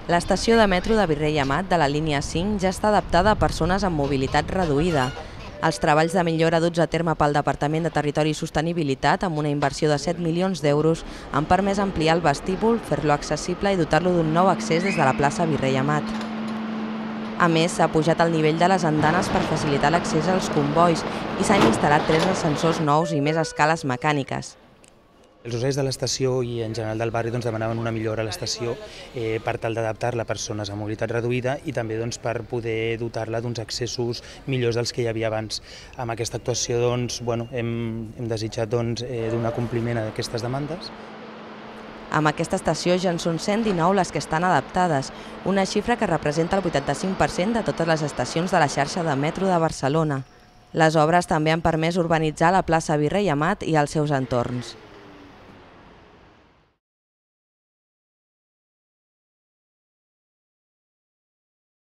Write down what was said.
L'estació de metro de Virrei Amat de la línia 5 ja està adaptada a persones amb mobilitat reduïda. Els treballs de millora duts a terme pel Departament de Territori i Sostenibilitat, amb una inversió de 7 milions d'euros, han permès ampliar el vestíbul, fer-lo accessible i dotar-lo d'un nou accés des de la plaça Virrei Amat. A més, s'ha pujat el nivell de les andanes per facilitar l'accés als combois i s'han instal·lat 3 ascensors nous i més escales mecàniques. Els usuaris de l'estació i en general del barri demanaven una millora a l'estació per tal d'adaptar-la a persones amb mobilitat reduïda i també per poder dotar-la d'uns accessos millors dels que hi havia abans. Amb aquesta actuació hem desitjat donar compliment a aquestes demandes. Amb aquesta estació ja en són 119 les que estan adaptades, una xifra que representa el 85% de totes les estacions de la xarxa de metro de Barcelona. Les obres també han permès urbanitzar la plaça Virrei Amat i els seus entorns.